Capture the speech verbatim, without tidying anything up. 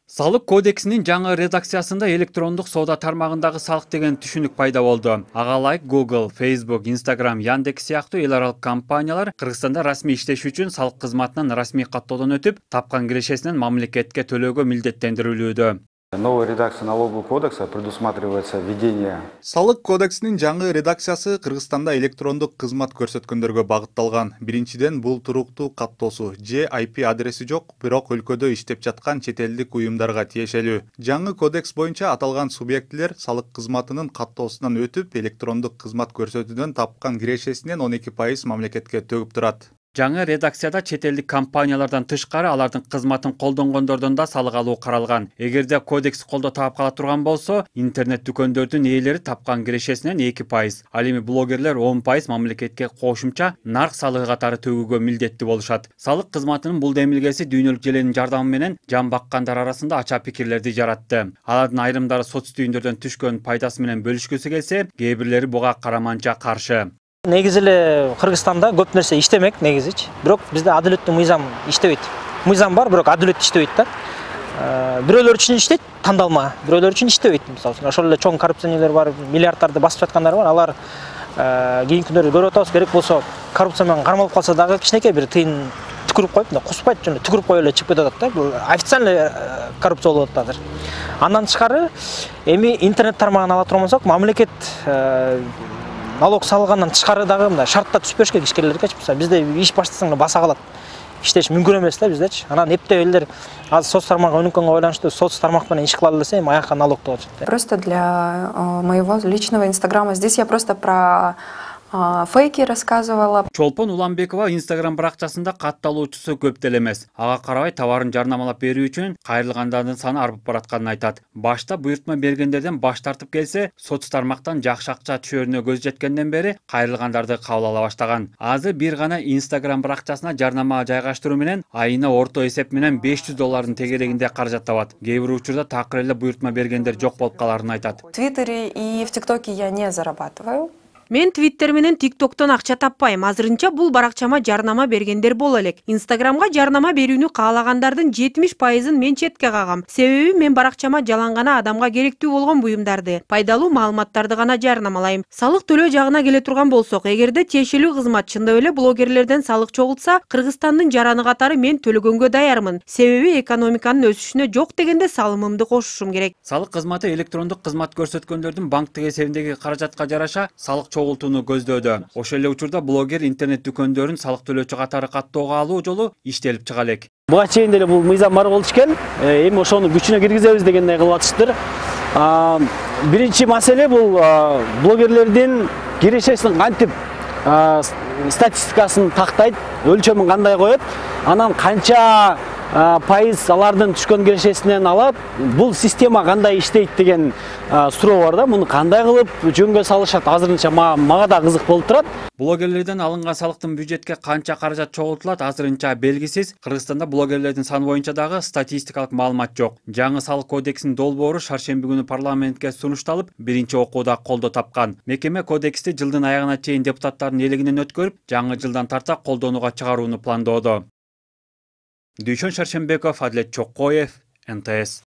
Салык кодексинин жаңы редакциясында электрондук соода тармагындагы салык деген түшүнүк пайда болду. Ага ылайык Google, Facebook, Instagram, Яндекс сыяктуу эл аралык компаниялар Кыргызстанда расмий иштеш үчүн салык кызматынан расмий каттоодон өтүп, тапкан кирешесинен мамлекетке төлөөгө милдеттендирилүүдө. Новая редакция налогового кодекса предусматривается введение. Салык кодексинин жаңы редакциясы Кыргызстанда электрондук кызмат көрсөткөндөргө багытталган. Биринчиден, бул туруктуу каттоосу же ай пи адреси жок, бирок өлкөдө иштеп жаткан чет элдик уюмдарга тиешелүү. Жаңы кодекс боюнча аталган субъектилер салык кызматынын каттоосунан өтүп, электрондук кызмат көрсөтүүдөн тапкан кирешесинен он эки пайыз мамлекетке төгүп турат. Жаңы редакцияда чет элдик компаниялардан тышкары алардын кызматын колдонгондордон да салык алуу каралган. Эгерде кодекс колдоо таап кала турган болсо, интернет дүкөндөрдүн ээлери тапкан кирешесинен эки пайыз, ал эми блогерлер он пайыз мамлекетке кошумча нарк салыгы катары төгүүгө милдеттүү болушат. Салык кызматынын бул демилгеси дүйнөлүк желенин жардамы менен жан баккандар арасында ача пикирлерди жаратты. Алардын айрымдары соц түйүндөрдөн түшкөн пайдасы менен бөлүшкүсү келсе, кээ бирлери буга караманча каршы. Негизи эле Кыргызстанда көп нерсе иштемек негизичи. Бирок бизде адилеттүү мыйзам иштебейт. Мыйзам бар, бирок адилет иштебейт да. Бирөөлөр үчүн иштейт, тандалма. Бирөөлөр үчүн иштебейт. Мисалы үчүн ошол эле чоң коррупционерлер бар, миллиарддарды басып жаткандар бар. Алар кийинки күндөрү көрүп атабыз, керек болсо коррупция менен кармалып калса дагы кичинекей бир тыйын түкүрүп коюп, мындай куспайт жана түкүрүп коюп эле чыгып кетип атат да. Бул официальный коррупция болуп атат азыр. Андан тышкары эми интернет тармагын ала турган болсок, мамлекет налог салгандан тышкары дагы мындай шартта түзүп бериш керек ишкерлерге. Бизде иш баштасаң да баса калат. Иштеш мүмкүн эмес да биздечи. Анан эптеп элдер азыр соц тармагы өнүккөнгө байланыштуу соц тармак менен иш кыла десе, эми аякка налог деп атышат. Просто для моего личного инстаграма здесь я просто про фейки рассказывала. Чолпон Уланбекова Instagram баракчасында катталуучусу көп деле эмес. Ага карабай товарын жарнамалап берүү үчүн кайрылгандардын саны арбып баратканын айтат. Башта буйртма бергендерден баш тартып келсе, соц тармактан жакшы акча түшөрүнө көз жеткенден бери кайрылгандарды кабыл ала баштаган. Азыр бир гана Instagram баракчасына жарнама жайгаштыруу менен айына орто эсеп менен беш жүз доллардын тегерегинде каражат табат. Кээ бир учурда такыр эле буйртма бергендер жок болуп каларын айтат. В Твиттере и в ТикТоке я не зарабатываю. Мен Твиттер менен ТикТоктон акча таппайм. Азырынча бул баракчама жарнама бергендер боло элек. Инстаграмга жарнама берүүнү каалагандардын жетимиш пайызын мен четке кагам. Себеби мен баракчама жалаң гана адамга керектүү болгон буюмдарды, пайдалуу маалыматтарды гана жарнамалайм. Салык төлөө жагына келе турган болсок, эгерде тиешелүү кызмат чындап эле блогерлерден салык чогултса, Кыргызстандын жараны катары мен төлөгөнгө даярмын. Себеби экономиканын өсүшүнө жок дегенде салымымды кошушум керек. Салык кызматы электрондук кызмат көрсөткөндөрдүн банктык эсебиндеги каражатка жараша салык чогултууну көздөөдө. Ошол эле учурда блогер интернет дүкөндөрүн салык төлөөчү катары каттоого алуу жолу иштелип чыга элек. Буга чейин деле бул мыйзам бар болчу экен. Эми ошону күчүнө киргизебиз дегендей кылып атышты. Биринчи маселе бул блогерлердин кирешесин кантип статистикасын тактайт, өлчөмүн кандай коет, анан канча пайыз алардын түшкөн кирешесинен алат, бул система кандай иштейт деген суроо бар да. Муну кандай кылып жөнгө салышат, азырынча мага да кызык болуп турат. Блогерлерден алынган салыктын бюджетке канча каражат чогултулат, азырынча белгисиз. Кыргызстанда блогерлердин саны боюнча дагы статистикалык маалымат жок. Жаңы салык кодексинин долбоору шаршемби күнү парламентке сунушталып, биринчи окууда колдоо тапкан. Мекеме кодексти жылдын аягына чейин депутаттардын элегинен өткөрүп, жаңы жылдан тарта колдонууга чыгарууну пландоодо. Дүйшөн Шаршембеков, Адилет Чоккоев, эн тэ эс.